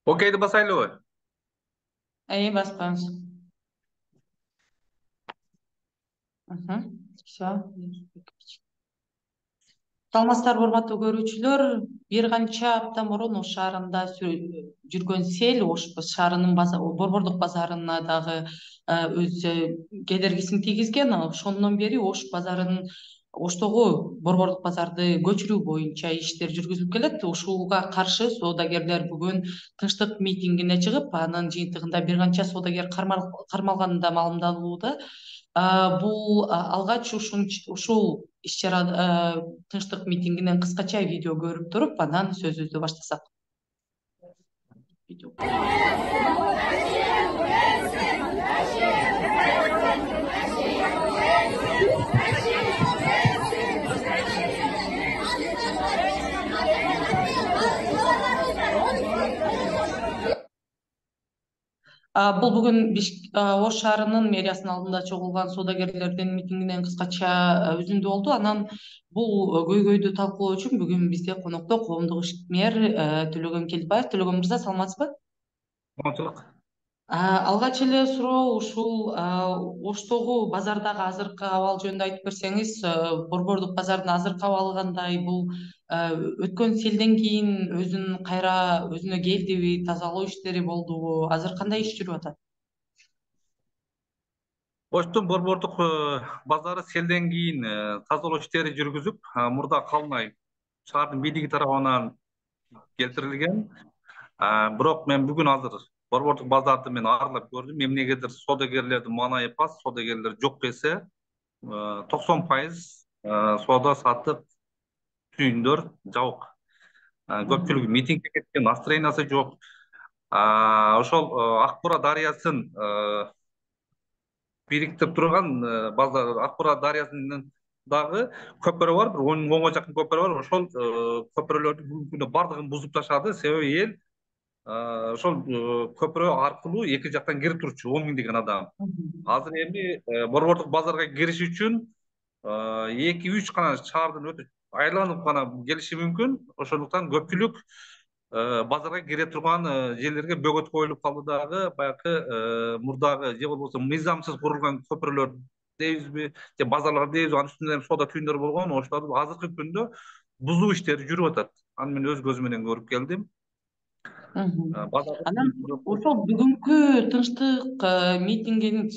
Окейди басайлыбы? Баспаңыз. Все. Саламатсыздарбы, урматтуу көрүүчүлөр. Бир канча апта мурун Ош шаарында жүргөн сел Ош шаарынын Борбордук базарына дагы өз кедергисин тийгизген. Ошондон бери Оштогу Борбордук базарды көчүрүү боюнча иштер жүргүзүлүп келет. Ушуга каршы соодагерлер бүгүн тынчтык митингине чыгып, анын жыйынтыгында бир канча соодагер кармалганы да маалымдалууда. Бул алгач ушул иш-чара тынчтык митингинен кыскача видео көрүп туруп, анан сөзүбүздү баштасак. Бул бүгүн Ош шаарынын мэриясынын алдында чогулган соодагерлердин митингинен кыскача үзүндү болду. Анан бул көйгөйдү талкуулоо үчүн бүгүн бизде конокто коомдук ишмер Төлөгөн Келдибаев. Төлөгөн мырза, саламатсызбы? Саламатчылык. Алгач эле суроо ушул Оштогу базардагы азыркы абал жөнүндө айтып берсеңиз, Борбордук базардын азыркы абалы кандай? Бул өткөн селден кийин өзүнө келдиби, тазалоо иштери болдубу? Азыр кандай иш жүрүп атат? Оштун борбордук базары селден кийин тазалоо иштери жүргүзүп, мурда калын ай шаардын бийлиги тарабынан келтирилген. Бирок мен бүгүн азыр борбордук базарды мен аралап көрдүм. Эмнегедир соодагерлердин маанайы паст, соодагерлер жок эсе 90% соода саттык түйүндөр жабык. Көпчүлүгү митингге кеткен, настроениясы жок. Ошол Ак Бура дарыясын бириктирип турган базар Ак Бура дарыясынын дагы көпүрө бар, бир 10 жакын көпүрө бар. Ошол көпүрөлөрдү бүгүнкү күндө бардыгын бузуп ташады. Себеби эл ошол көпүрө аркылуу эки жактан кирип турчу 10 миңдеген адам. Азыр эми борбордук базарга кириш үчүн 2-3 гана шаардын өтүп айланып гана келиши мүмкүн. Ошондуктан көпчүлүк базарга кире турган жерлерге бөгөт коюлуп калды дагы. Баягы мурдагы же болбосо мыйзамсыз курулган көпүрөлөр дейбизби, же базарлар дейбизби, анын үстүндө соода түйүндөр болгон. Ошолорду азыркы күндө бузуу иштери жүрүп атат. Аны мен өз көзүм менен көрүп келдим. Анан ошол бүгүнкү тынчтык митингинин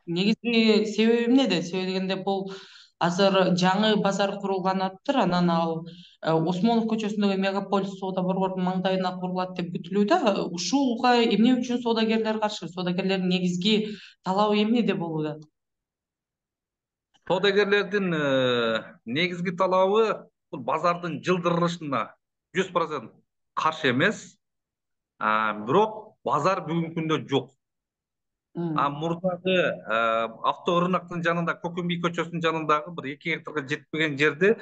негизги себеби эмнеде? Себеби дегенде бул азыр жаңы базар курулган анан ал Осмонов көчөсүндөгү Мегаполис соода борборунун маңдайына курулат деп күтүлүүдө. Ушуга эмне үчүн соодагерлер каршы? Соодагерлердин негизги талабы эмнеде болууда? Соодагерлердин негизги талабы бул базардын жылдырылышына 100% каршы эмес. Бирок базар бүгүнкү күндө жок. Мурдагы авторыноктун жанында, Көкүмбий көчөсүнүн жанындагы бир 2 гектарга жетпеген жерди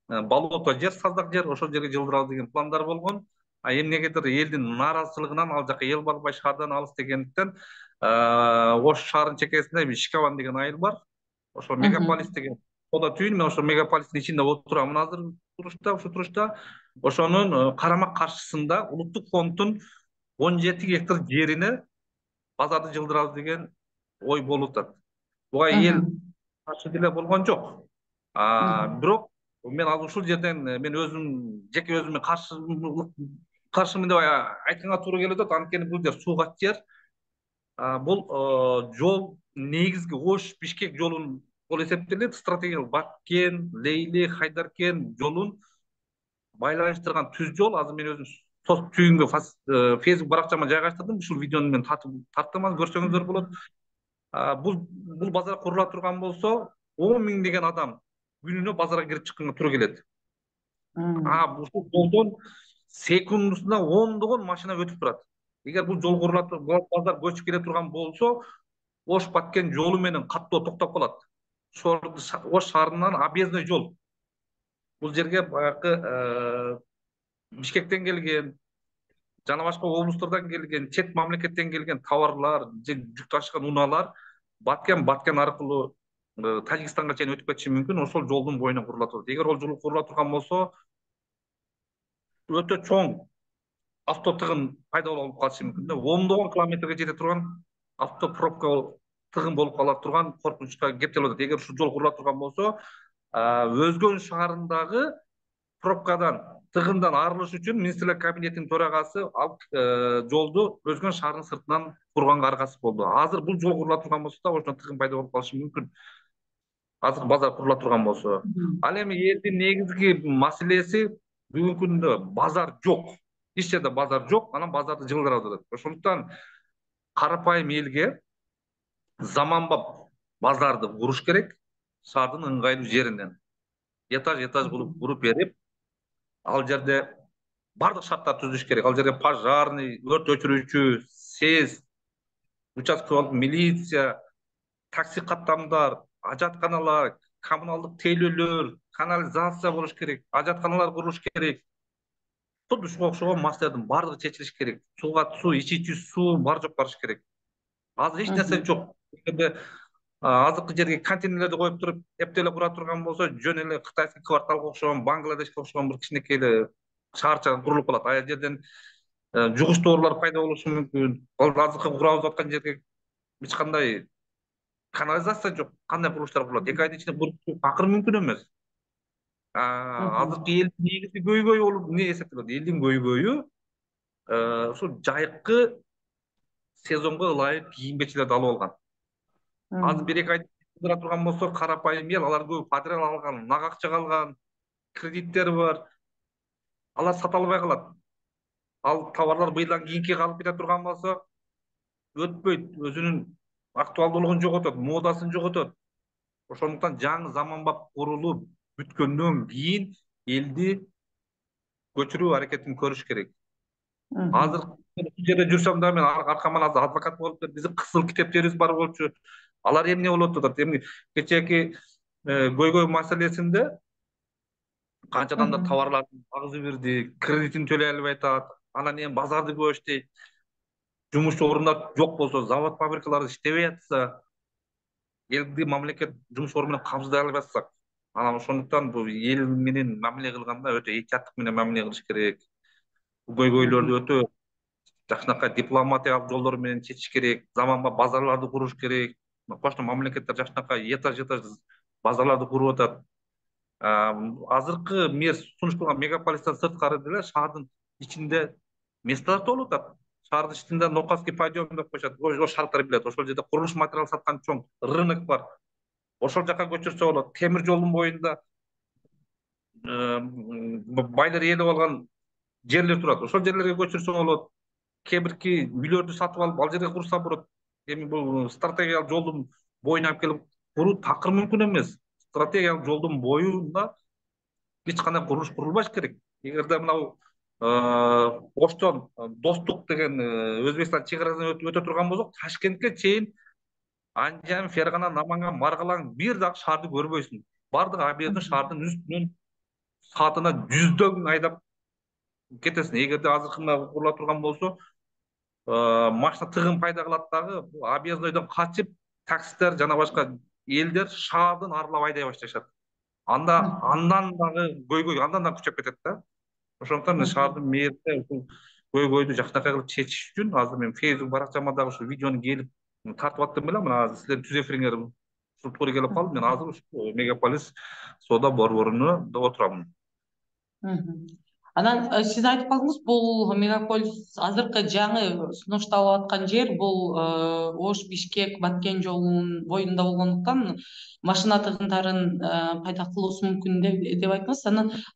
болото жер, саздак жер, ошол жерге жылдырабыз деген пландар болгон. Эмнегедир элдин нааразычылыгынан ал жака эл барбай, шаардан алыс дегендиктен Ош шаарынын чекесинде Шикабан деген айыл бар. Ошол Мегаполис деген соода түйүн, мен ошол Мегаполистин ичинде отурам азыр ушу турушта. Ошонун карама каршысында улуттук фонддун 17 гектар жерине базарды жылдырабыз деген ой болуп атат. Буга эл каршы деле болгон жок. Бирок мен азыр ушул жерден мен өзүм жеке өзүмө каршымын деп айтканга туура келип атат. Анткени бул жер суугат жер. Бул жол негизги Ош Бишкек жолун болуп эсептелет. Стратегиялык Баткен, Лейли, Хайдаркен жолун байланыштырган түз жол. Азыр мен өзүм түйүнгө Facebook баракчама жайгаштырдым. Ушул видеону мен тарттым, көрсөңүздөр болот. Бул базар курула турган болсо 10 миңдеген адам күнүнө базарга кирип чыкканга туура келет. Ушул жолдон секундусуна ондогон машина өтүп турат. Эгер бул жол курулат, базар көчүп келе турган болсо, Ош Баткен жолу менен каттоо токтоп калат. Ош шаарынан объездной жол. Бул жерге баягы Бишкектен келген, жана башка облустардан келген, чет мамлекеттен келген товарлар же жүк ташыган унаалар Баткен аркылуу Тажикстанга чейин өтүп кетиши мүмкүн. Ошол жолдун боюна курулат. Эгер ол жол курула турган болсо, өтө чоң авто тыгын пайда болуп калышы мүмкүн да. Ондогон километрге жете турган авто пробка тыгын болуп кала турган коркунучка кептелип атат. Эгер ушул жол курула турган болсо, Өзгөн шаарындагы пробкадан, тыгындан арылыш үчүн министрлер кабинетинин төрагасы ал жолду Өзгөн шаарынын сыртынан курганга аргасыз болду. Азыр бул жол курула турган болсо да ошондо тыгын пайда болуп калышы мүмкүн. Азыр базар курула турган болсо. Ал эми элдин негизги маселеси бүгүнкү күндө базар жок. Эч жерде базар жок, анан базарды жылдырып атат. Ошондуктан карапайым элге заманбап базарды куруш керек, шаардын ыңгайлуу жеринен. Этаж кылып куруп берип, ал жерде бардык шарттарды түзүш керек. Ал жерге пожарный, өрт өчүрүүчү, СЭС, участкалык милиция, такси каттамдар, ажатканалар, коммуналдык тейлөөлөр, канализация болуш керек, ажатканалар курулуш керек. Тут ушуга окшогон маселелердин бардыгы чечилиш керек. Суу, ичүүчү суу бар жок барыш керек. Азыр эч нерсе жок. Азыркы жерге контейнерлерди коюп туруп, эптеле кура турган болсо, жөн эле кытайский кварталга окшогон, Бангладешке окшогон бир кичинекей эле шаарча курулуп калат. Ал жерден жугуч тоорулар пайда болушу мүмкүн. Ал азыркы курабыз аткан жерге эч кандай канализация жок. Кандай курулуштар курулат? 2 айдын ичинде куруп акыры мүмкүн эмес. Азыркы элдин негизги көйгөйү болуп эмне эсептелет? Элдин көйгөйү ушул жайкы сезонго ылайык кийим-кечейлерди алып алган. Азыр 1-2 ай кыдыра турган болсо, карапайым эл, алар көбү подряд алган, нак акча алган, кредиттери бар. Алар сата албай калат. Ал товарлар быйылдан кийинки калып кете турган болсо, өтпөйт, өзүнүн актуалдуулугун жоготот, модасын жоготот. Ошондуктан жаңы заманбап курулуп бүткөндөн кийин элди көчүрүү аракетин көрүш керек. Азыр бул жерде жүрсөм да мен аркаман азыр адвокат болуп кетип, биздин кызыл китептерибиз бар болчу. Алар эмне болуп атат? Эми кечээки көйгөй маселесинде канчадан да товарларды агызып бирди, кредитин төлөй албай атат. Анан эми базарды көп иштейт. Жумуш орундар жок болсо, завод фабрикалар иштебей атса, элди мамлекет жумуш орду менен камсыздай албай атсак, анан ошондуктан бул эл менен мамиле кылганда өтө этияттык менен мамиле кылыш керек. Көйгөйлөрдү өтө жакшынакай дипломатиялык жолдор менен чечиш керек. Заманбап базарларды куруш керек. Кошмо мамлекеттер жакшынакай этаж базарларды куруп атат. Азыркы мер сунуш кылган мегаполистен сырткары деле шаардын ичинде местолар толуп атат. Шаардын ичинде Нокаский подъем деп коюшат. Ошол шаардтар билет. Ошол жерде курулуш материал саткан чоң рынок бар. Ошол жака көчүрсө болот. Темир жолдун боюнда байлар ээлеп алган жерлер турат. Ошол жерлерге көчүрсө болот. Кээ үйлөрдү сатып алып, ал жерге курса болот. Эми бул стратегиялык жолдун боюна алып келип куруу такыр мүмкүн эмес. Стратегиялык жолдун боюнда эч кандай курулуш курулбаш керек. Эгерде мынау Оштон Достук деген Өзбекстан чек арасын өтө турган болсок, Ташкентке чейин Анжан, Фергана, Наманган, Маргалаң бир дагы шаарды көрбөйсүң. Бардыгы абийирдин шаардын үстүнөн саатына 100дөң айдап кетесиң. Эгерде азыркы курула турган болсо, машина тыгын пайда кылат дагы, объездойдон качып, таксисттер жана башка элдер шаардын аралап айдай башташат. Андан дагы көйгөй андан да күчөп кетет да. Ошондуктан шаардын мэрия ушул көйгөйдү жакшынакай кылып чечиш үчүн азыр мен Facebook баракчама дагы ушул видеону келип тартып аттым белем. Мына азыр силердин түз эфириңер ушул туура келип калды. Мен азыр ушул мегаполис соода борборунда отурамын. Анан сиз айтып калдыңыз, бул мегаполис азыркы жаңы сунушталып аткан жер бул Ош Бишкек Баткен жолунун боюнда болгондуктан машина тыгындарын пайда кылуусу мүмкүн деп айттыңыз.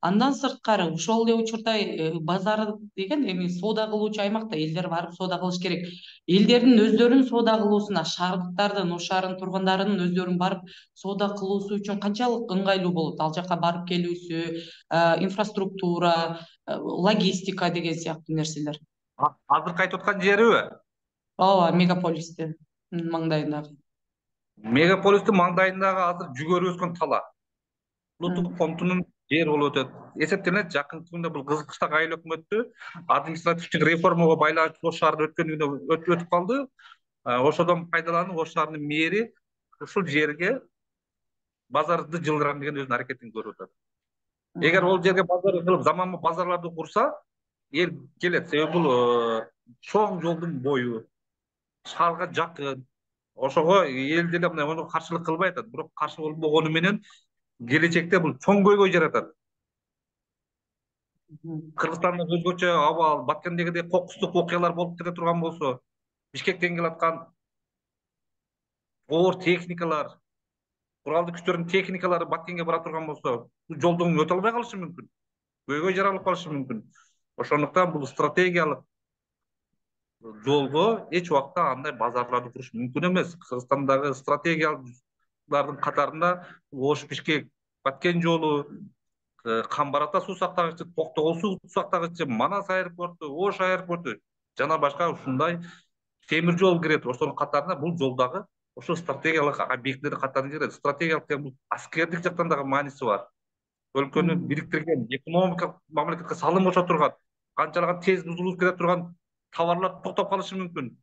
Андан сырткары ошол эле учурда базар деген эми соода кылуучу аймакта элдер барып соода кылыш керек. Элдердин өздөрүнүн соода кылуусуна, шаардыктардын, Ош шаарынын тургундарынын өздөрүнүн барып соода кылуусу үчүн канчалык ыңгайлуу болот? Ал жака барып келүүсү, инфраструктура, логистика деген сыяктуу нерселер. Азыркы айтып аткан жериби? Ооба, мегаполистин маңдайындагы. Мегаполистин маңдайындагы азыр жүгөрү өскөн тала. Улуттук фондунун жери болуп өтөт. Эсептелет, жакынкы күндө бул Кызыл Кыштак айыл өкмөтү административдик реформага байланыштуу Ош шаарында өткөндүгүнө өтүп калды. Ошодон пайдаланып Ош шаарынын мэри ушул жерге базарды жылдырам деген өзүнүн аракетин көрүп атат. Эгер ол жерге базар кылып, заманбап базарларды курса, эл келет, себеби бул чоң жолдун бою, шаарга жакын. Ошого эл деле мындай ону каршылык кылбай атат, бирок каршы болбогону менен келечекте бул чоң көйгөй жаратат. Мгм. Кыргызстанда өзгөчө абал, Баткендегидей кокустук окуялар болуп кете турган болсо, Бишкектен келаткан оор техникалар, куралдуу күчтөрдүн техникалары Баткенге бара турган болсо, бул жолдон өтө албай калышы мүмкүн. Көйгөй жаралып калышы мүмкүн. Ошондуктан бул стратегиялык жолго эч убакта андай базарларды куруш мүмкүн эмес. Кыргызстандагы стратегиялардын катарында Ош Бишкек Баткен жолу, Камбар Ата суу сактагычы, Токтогул суу сактагычы, Манас аэропорту, Ош аэропорту жана башка ушундай темир жол кирет. Ошонун катарында бул жол дагы ошо стратегиялык объектилердин катарына кирет. Стратегиялык деген бул аскердик жактан дагы мааниси бар. Өлкөнү Мгм. бириктирген, экономикалык мамлекетке салым кошо турган, канчалаган тез бузулуп кете турган товарлар токтоп калышы мүмкүн.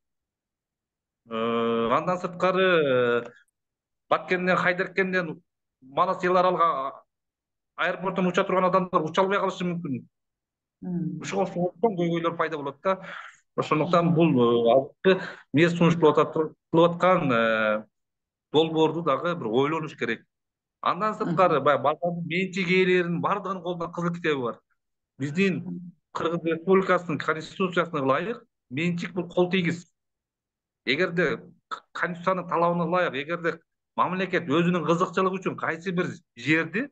Андан сырткары Баткенден, Хайдаркенден Манас эл аралга аэропорттон уча турган адамдар уча албай калышы мүмкүн. Мгм. Ошого чоң көйгөйлөр пайда болот да. Ошондуктан Мгм. бул азыркы мес кылып аткан долбоорду дагы бир ойлонуш керек. Андан сырткары Мгм. баягы базардын менчик ээлеринин бардыгынын колунда кызыл китеби бар. Биздин Кыргыз Республикасынын Конституциясына ылайык менчик бул кол тийгиз. Эгерде Конституциянын талабына ылайык, эгерде мамлекет өзүнүн кызыкчылыгы үчүн кайсы бир жерди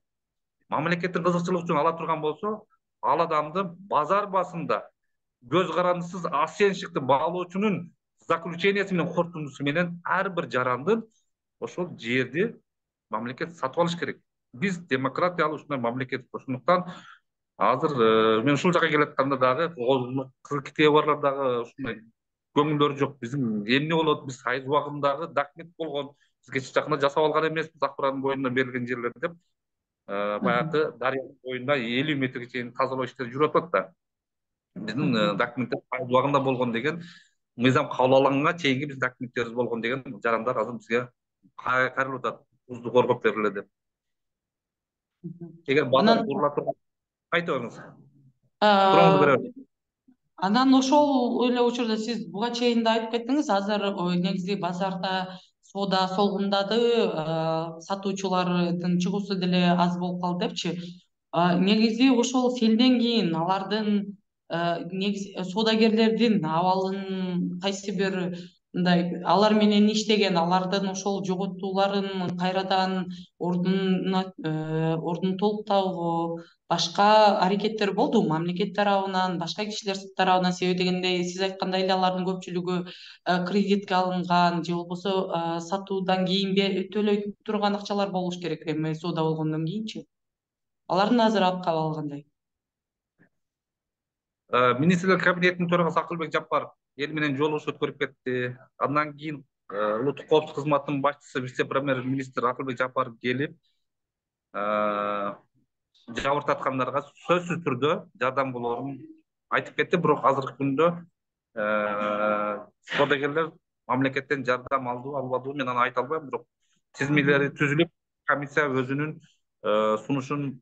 мамлекеттин кызыкчылыгы үчүн ала турган болсо, ал адамды базар баасында көз карандысыз оценщикти баалоочунун заключениясы менен, корутундусу менен ар бир жарандын ошол жерди мамлекет сатып алыш керек. Биз демократиялуу ушундай мамлекет. Ошондуктан азыр мен ушул жака келатканда дагы кызыл китеби барлар дагы ушундай көңүлдөрү жок. Биздин эмне болот? Биз айыз убагындагы документ болгон. Биз кеч жакында жасап алган эмеспиз Акбарадын боюнда берилген жерлер деп. Мгм. Баягы Дарыянын боюнда 50 метрге чейин тазалоо иштери жүрүп атат да. Биздин Мгм. документтер айыз убагында болгон деген мыйзам кабыл алынганга чейинки биздин документтерибиз болгон деген жарандар азыр бизге кайрылып атат. Бузду коргоп бергиле деп. Мгм. Эгер базар Анан курула турган айта бериңиз. Сурооңузду а, бере бериң. анан ошол эле учурда сиз буга чейин да айтып кеттиңиз, азыр негизи базарда соода солгундады, сатуучулардын чыгуусу деле аз болуп калды депчи. Негизи ошол селден кийин алардын негизи соодагерлердин абалын кайсы бир мындай алар менен иштеген, алардын ошол жоготууларын кайрадан ордун толуктоого башка аракеттер болдубу мамлекет тарабынан, башка кишилер тарабынан? Себеби дегенде сиз айткандай эле алардын көпчүлүгү кредитке алынган же болбосо сатуудан кийин төлөй турган акчалар болуш керек, эми соода болгондон кийинчи. Алардын азыр абкабы кандай? Министрлер кабинетинин төрагасы Акылбек Жапаров эл менен жолугушуу өткөрүп кетти. Андан кийин улуттук коопсуздук кызматынын башчысы вице премьер министр Акылбек Жапаров келип жабыртаткандарга сөзсүз түрдө жардам болоорун айтып кетти. Бирок азыркы күндө соодагерлер мамлекеттен жардам алдыбы, албадыбы мен аны айта албайм. Бирок тизмелери Мгм. түзүлүп, комиссия өзүнүн сунушун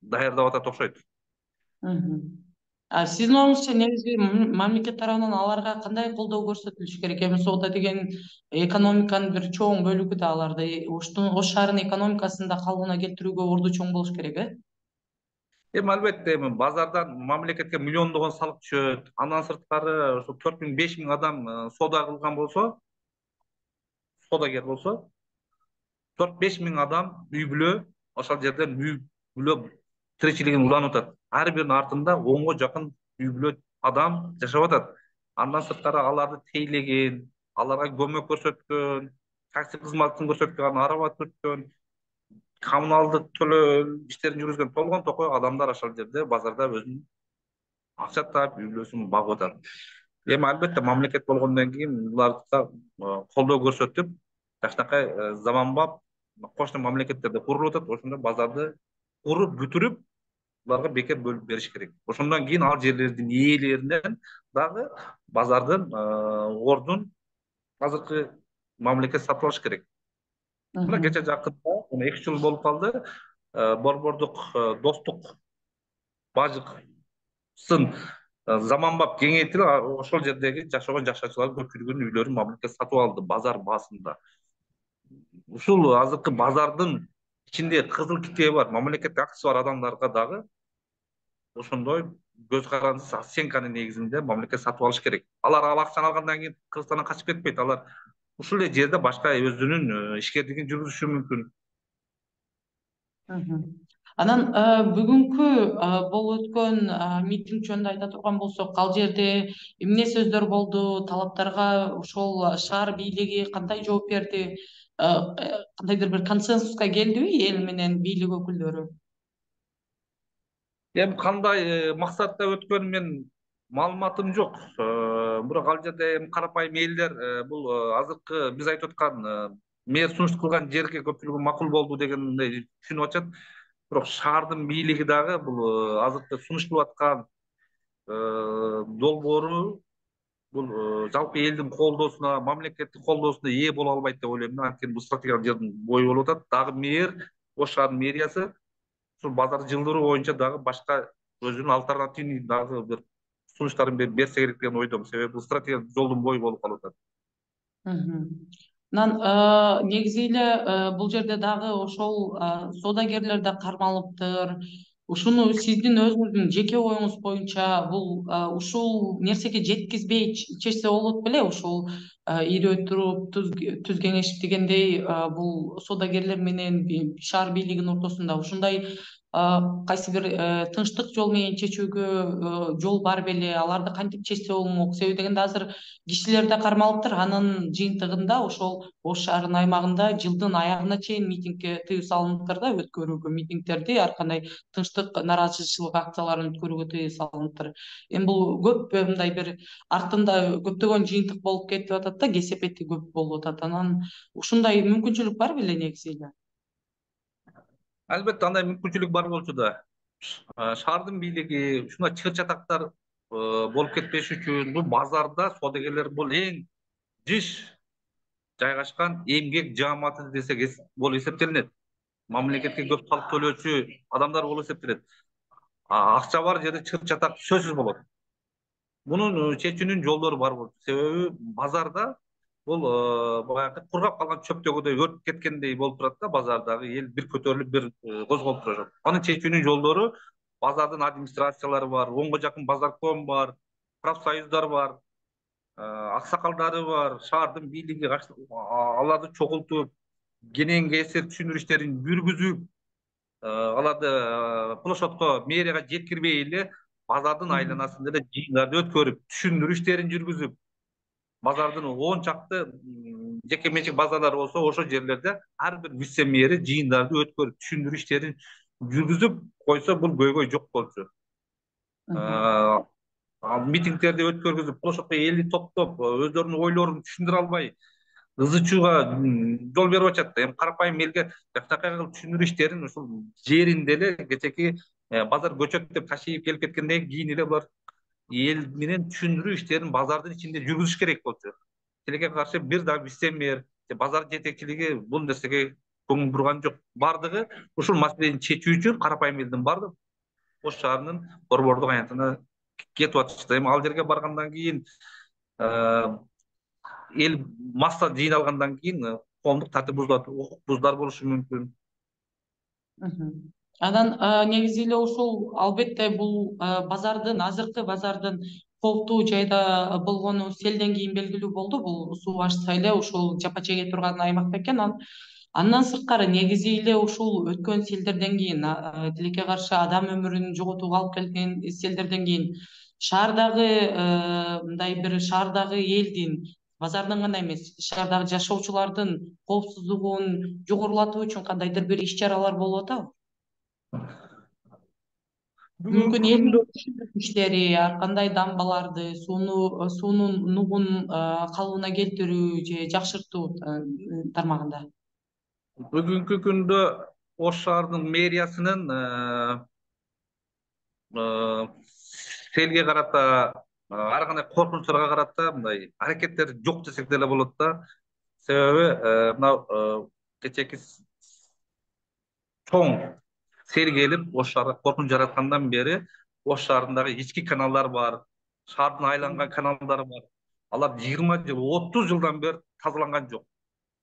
даярдап атат окшойт. Мгм. Сиздин оюңузча негизи мамлекет тарабынан аларга кандай колдоо көрсөтүлүш керек? Эми соода деген экономиканын бир чоң бөлүгү да, аларды Ош шаарынын экономикасын да калыбына келтирүүгө орду чоң болуш керек, э? Эми албетте эми базардан мамлекетке миллиондогон салык түшөт. Андан сырткары ошо 4 миң 5 миң адам соода кылган болсо, соодагер болсо, 4-5 миң адам үй бүлө ошол жерден үй бүлө тиричилигин уланып атат. Ар биринин артында 10го жакын үй бүлө адам жашап атат. Андан сырткары аларды тейлеген, аларга көмөк көрсөткөн, такси кызматын көрсөткөн, арба түрткөн, коммуналдык төлөө иштерин жүргүзгөн толгон токой адамдар ошол жерде базарда өзүнүн акча таап үй бүлөсүн багып атат. Эми албетте мамлекет болгондон кийин буларга колдоо көрсөтүп, жакшынакай заманбап кошуна мамлекеттерде курулуп атат. Ошондо базарды куруп бүтүрүп, буларга бекер бөлүп бериш керек. Ошондон кийин ал жерлердин ээлеринен дагы базардын ордун азыркы мамлекет сатып алыш керек. Мына кече Мгм. жакында, 2 жыл болуп калды, Борбордук достук бажыксын заманбап кеңейтилип ошол жердеги жашаган жашоочулардын көпчүлүгүнүн үйлөрүн мамлекет сатып алды базар баасында. Ушул азыркы базардын ичинде кызыл китеби бар, мамлекеттик акчасы бар адамдарга дагы ошондой көз карандысыз оценканын негизинде мамлекет сатып алыш керек. Алар ал акчаны алгандан кийин Кыргызстандан качып кетпейт. Алар ушул эле жерде башка өзүнүн ишкерлигин жүргүзүшү мүмкүн. Мгм. Анан бүгүнкү болуп өткөн митинг жөнүндө айта турган болсок, ал жерде эмне сөздөр болду, талаптарга ошол шаар бийлиги кандай жооп берди, кандайдыр бир консенсуска келдиби эл менен бийлик өкүлдөрү? Эми кандай максатта өткөнүн мен маалыматым жок. Бирок ал жерде эми карапайым элдер бул азыркы биз айтып аткан мэр сунуш кылган жерге көпчүлүгү макул болду дегендей түшүнүп атышат. Бирок шаардын бийлиги дагы бул азыркы сунуш кылып аткан долбоору бул жалпы элдин колдоосуна, мамлекеттик колдоосуна ээ боло албайт деп ойлойм да. Анткени бул стратегиялык жердин бою болуп атат. Дагы мэр, Ош шаарынын мэриясы ушул базарды жылдыруу боюнча дагы башка өзүнүн альтернативный дагы бир сунуштарын берсе керек деген ойдомун. Себеби бул стратегиялык жолдун бою болуп калып атат. Мгм. Анан негизи эле бул жерде дагы ошол соодагерлер да кармалыптыр. Ушуну сиздин өзүңүздүн жеке оюңуз боюнча бул ушул нерсеге жеткизбей чечсе болот беле? Ушул ирөө туруп түз кеңешип дегендей бул соодагерлер менен шаар бийлигинин ортосунда ушундай кайсы бир тынчтык жол менен чечүүгө жол бар беле? Аларды кантип чечсе болмок? Себеби дегенде азыр кишилер да кармалыптыр. Анын жыйынтыгында ошол Ош шаарынын аймагында жылдын аягына чейин митингге тыюу салыныптыр да, өткөрүүгө митингдерди, ар кандай тынчтык, нааразычылык акцияларын өткөрүүгө тыюу салыныптыр. Эми бул көп мындай бир артында көптөгөн жыйынтык болуп кетип атат да, кесепети көп болуп атат. Анан ушундай мүмкүнчүлүк бар беле негизи эле? Албетте андай мүмкүнчүлүк бар болчу да. Шаардын бийлиги ушундай чыр чатактар болуп кетпеш үчүн бул базарда соодагерлер бул эң жыш жайгашкан эмгек жааматы десек болуп эсептелинет. Мамлекетке көп салык төлөөчү адамдар болуп эсептелет. Акча бар жерде чыр чатак сөзсүз болот. Мунун чечүүнүн жолдору бар болчу. Себеби базарда бул баягы кургап калган чөптөгүдөй өртүп кеткендей болуп турат да, базардагы эл бир көтөрүлүп бир козголуп турат. Анын чечүүнүн жолдору базардын администрациялары бар, онго жакын базарком бар, профсоюздар бар, аксакалдары бар, шаардын бийлиги аларды чогултуп, кенен кесир түшүндүрүү иштерин жүргүзүп, аларды площадько мэрияга жеткирбей эле базардын айланасында эле жыйындарды өткөрүп, түшүндүрүү иштерин жүргүзүп, базардын 10 чакты жеке менчик базарлар болсо ошол жерлерде ар бир вице мэри жыйындарды өткөрүп, түшүндүрүү иштерин жүргүзүп койсо бул көйгөй жок болчу. Мгм. Митингдерди өткөргүзүп, площадько элди топтоп, өздөрүнүн ойлорун түшүндүрө албай, ызы чууга жол берип атышат. Эми карапайым элге жакшынакай кылып түшүндүрүү иштерин ушул жеринде эле кечээки базар көчөт деп ташыйып келип кеткенден кийин эле булар эл менен түшүндүрүү иштерин базардын ичинде жүргүзүш керек болчу. Тилекке каршы бир да вице мэр же базар жетекчилиги бул нерсеге көңүл бурган жок. Бардыгы ушул маселени чечүү үчүн карапайым элдин бардыгы Ош шаарынын борбордук аянтына кетип атышты. Эми ал жерге баргандан кийин эл масса жыйналгандан кийин коомдук тартип бузулат, укук бузуулар болушу мүмкүн. Мгм. Анан негизи эле ушул албетте бул азыркы базардын кооптуу жайда болгону селден кийин белгилүү болду. Бул суу ачса эле ушул жапа чеге турган аймак экен. Андан сырткары негизи эле ушул өткөн селдерден кийин, тилекке каршы адам өмүрүн жоготууга алып келген селдерден кийин шаардагы мындай бир шаардагы элдин, базардын гана эмес, шаардагы жашоочулардын коопсуздугун жогорулатуу үчүн кандайдыр бир иш чаралар болуп атабы? Мүмкүн Бүгүнкү элдин күндө түшүндүрүү иштери, ар кандай дамбаларды, суунун нугун калыбына келтирүү же жакшыртуу тармагында. бүгүнкү күндө Ош шаарынын мэриясынын селге карата ар кандай коркунучтарга карата мындай аракеттери жок десек деле болот да. Себеби мына кечээки чоң сел келип Ош шаарга коркунуч жараткандан бери Ош шаарындагы ички каналдар бар, шаардын айланган каналдары бар. Алар 20 жыл, 30 жылдан бери тазаланган жок.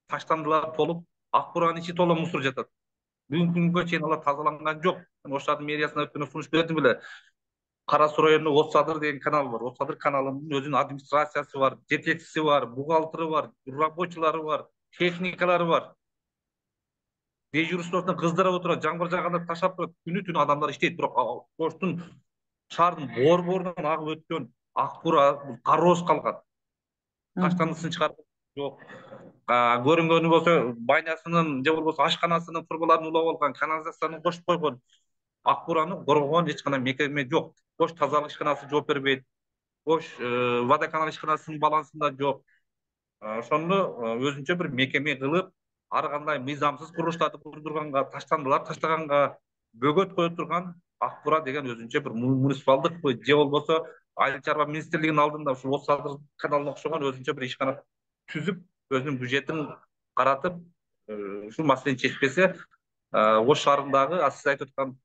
Таштандылар толуп, Ак Буранын ичи толо мусор жатат. Бүгүнкү күнгө чейин алар тазаланган жок. Мен Ош шаардын мэриясына өткөндө сунуш бердим эле. Кара Суу районунда От Садыр деген канал бар. От Садыр каналынын өзүнүн администрациясы бар, жетекчиси бар, бухгалтеры бар, рабочийлары бар, техникалары бар. Дежурствосуна кыздырып отурат, жамгыр жааганда таштап турат. Күнү түнү адамдар иштейт, бирок Оштун шаардын борборунан агып өткөн Ак Бура кароосуз калган. Таштандысын чыгарып жок. Көрүнгөнү болсо банясынын же болбосо ашканасынын трубаларын улап алган, канализацияны кошуп койгон. Ак Бураны коргогон эч кандай мекеме жок. Ош тазалык ишканасы жооп бербейт. Ош водоканал ишканасынын балансында жок. Ошондо өзүнчө бир мекеме кылып, ар кандай мыйзамсыз курулуштарды курдурганга, таштандылар таштаганга бөгөт кое турган Ак Бура деген өзүнчө бир муниципалдыкпы же болбосо Айыл чарба министрлигинин алдында ушул От Садыр каналына окшогон өзүнчө бир ишкана түзүп, өзүнүн бюджетин каратып, ушул маселени чечпесе, Ош шаарындагы сиз айтып аткан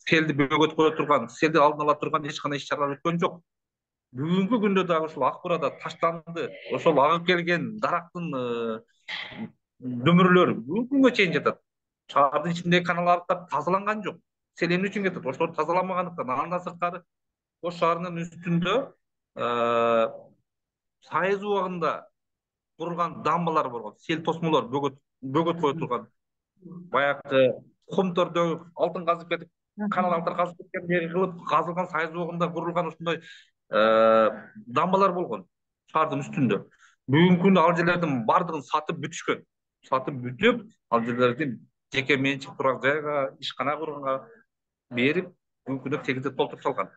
селди бөгөт кое турган, селди алдын ала турган эч кандай иш чаралар өткөн жок. Бүгүнкү күндө дагы ушул Ак Бурада таштанды, ошол агып келген дарактын дөмүрлөрү бүгүнкү күнгө чейин жатат. Шаардын ичиндеги каналдар тазаланган жок. Сел эмне үчүн кетет? Ошолор тазаламагандан. Андан сырткары Ош шаарынын үстүндө сайыз убагында курулган дамбалар болгон, сел тосмолор бөгөт кое турган. Баягы комтордо алтын казып кетип, каналдар казып кеткендей кылып казылган сайыз убагында курулган ушундай дамбалар болгон шаардын үстүндө. Бүгүнкү күндө ал жерлердин бардыгын сатып бүтүшкөн. Сатып бүтүп, ал жерлерди жеке менчик турак жайга, ишкана курганга берип, бүгүнкү күндө тегиздеп толтуруп салган.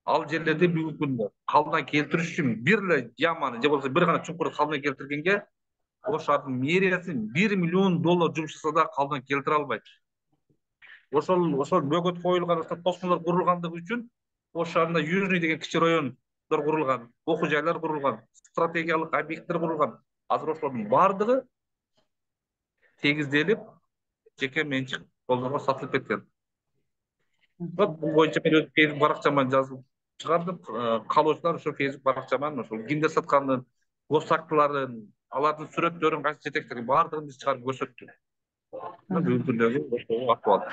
Ал жерлерди бүгүнкү күндө калыбына келтириш үчүн бир эле яманы же болбосо бир гана чуңкурду калыбына келтиргенге Ош шаардын мэриясы $1 миллион жумуш жасаса да калыбына келтире албайт. Ошол бөгөт коюлган, ошол тосмолор курулгандыгы үчүн Ош шаарында Южный деген кичи райондор курулган, окуу жайлар курулган, стратегиялык объекттер курулган. Азыр ошолордун бардыгы тегизделип, жеке менчик колдорго сатылып кеткен. Бул боюнча мен өз фейсбук баракчама жазып чыгардым. Каалоочулар ошо фейсбук баракчаман ошол кимдер сатканын, госактыларын, алардын сүрөттөрүн, кайсы жетектерин бардыгын биз чыгарып көрсөттүк. Бүгүнкү күндөгү ошол ахвал.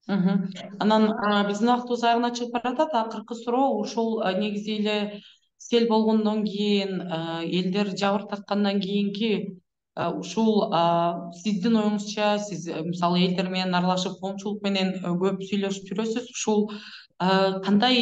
Анан биздин убактыбыз аягына чыгып баратат. Акыркы суроо ушул негизи эле сел болгондон кийин, элдер жабыр тарткандан кийинки ушул сиздин оюңузча, сиз мисалы элдер менен аралашып, коомчулук менен көп сүйлөшүп жүрөсүз. Ушул кандай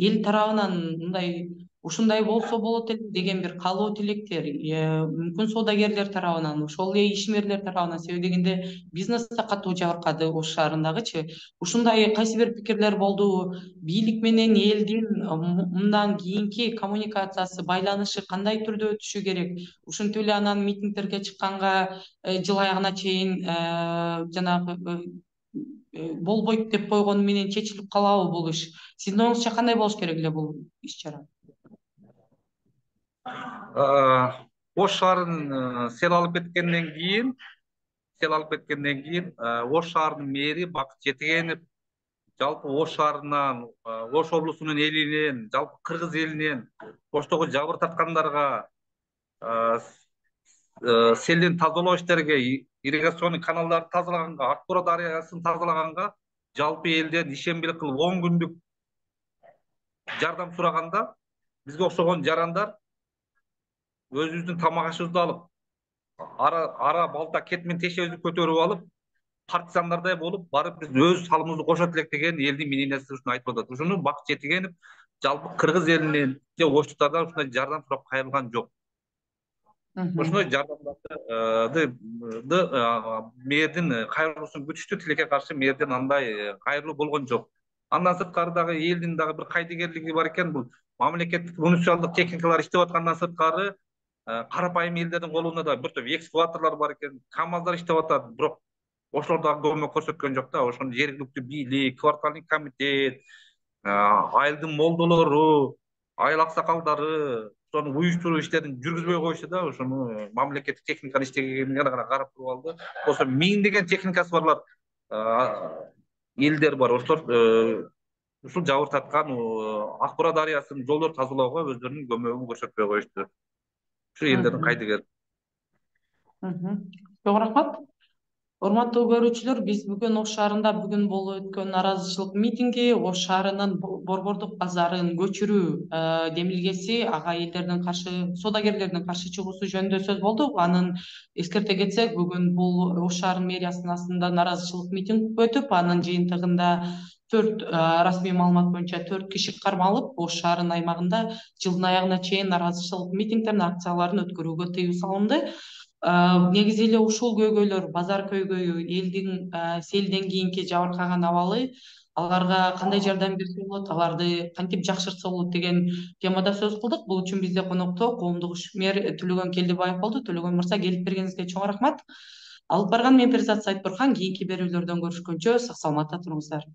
эл тарабынан мындай ушундай болсо болот эле деген бир каалоо тилектер, мүмкүн соодагерлер тарабынан, ошол эле ишмерлер тарабынан, себеби дегенде бизнес да катуу жабыркады Ош шаарындагычы. Ушундай кайсы бир пикирлер болду. Бийлик менен элдин мындан кийинки коммуникациясы, байланышы кандай түрдө өтүшү керек? Ушинтип эле анан митингдерге чыкканга жыл аягына чейин жанагы болбойт деп койгону менен чечилип калабы бул иш? Сиздин оюңузча кандай болуш керек эле бул иш чара? Ош шаарын сел алып кеткенден кийин Ош шаарынын мэри Бакыт Жетигенов жалпы Ош шаарынан, Ош облусунун элинен, жалпы кыргыз элинен Оштогу жабыр тарткандарга, селдин тазалоо иштериге, ирригационный каналдарды тазалаганга, Ак Бура дарыясын тазалаганга жалпы элден ишембилик кылып 10 күндүк жардам сураганда, бизге окшогон жарандар өзүбүздүн тамак ашыбызды алып, ара балта кет менен тешебизди көтөрүп алып, партизандардай болуп барып биз өз салымыбызды кошот элек деген элдин мнениясы ушуну айтып атат. Ушуну Бакыт Жетигенов жалпы кыргыз элинен же оштуктардан ушундай жардам сурап кайрылган жок. Ошондой жардамдарды мэрдин кайрылуусун күтүштү, тилекке каршы мэрдин андай кайрылуу болгон жок. Андан сырткары дагы элдин дагы бир кайдыгерлиги бар экен. Бул мамлекеттик муниципалдык техникалар иштеп аткандан сырткары карапайым элдердин колунда да бир топ экскаваторлор бар экен, КАМАЗдар иштеп атат, бирок ошолор дагы көмөк көрсөткөн жок да. Ошону жергиликтүү бийлик, квартальный комитет, айылдын молдолору, айыл аксакалдары ошону уюштуруу иштерин жүргүзбөй коюшту да. Ошону мамлекеттик техниканын иштегенин гана карап туруп алды. Болсо миңдеген техникасы барлар элдер бар. Ошолор ушул жабыркаткан Ак Бура дарыясынын жолдорун тазалоого өздөрүнүн көмөгүн көрсөтпөй коюшту. Ушу элдердин кайдыгер. Чоң рахмат. Урматтуу көрүүчүлөр, биз бүгүн Ош шаарында бүгүн болуп өткөн нааразычылык митинги Ош шаарынын борбордук базарын көчүрүү демилгеси, ага элдердин каршы, соодагерлердин каршы чыгуусу жөнүндө сөз болду. Анын эскерте кетсек, бүгүн бул Ош шаарынын мэриясынын астында нааразычылык митинг өтүп, анын жыйынтыгында расмий маалымат боюнча 4 киши кармалып, Ош шаарынын аймагында жылдын аягына чейин нааразычылык митингдерин, акцияларын өткөрүүгө тыюу салынды. Негизи эле ушул көйгөйлөр, базар көйгөйү, элдин селден кийинки жабыркаган абалы, аларга кандай жардам берсе болот, аларды кантип жакшыртса болот деген темада сөз кылдык. Бул үчүн бизде конокто коомдук ишмер Төлөгөн Келдибаев болду. Төлөгөн мырза, келип бергениңизге чоң рахмат. Алып барган мен Перизат Сайтбурхан. Кийинки берүүлөрдөн көрүшкөнчө сак саламатта туруңуздар.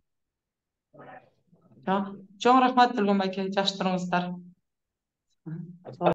Чоң рахмат Төлөгөн байке, жакшы туруңуздар.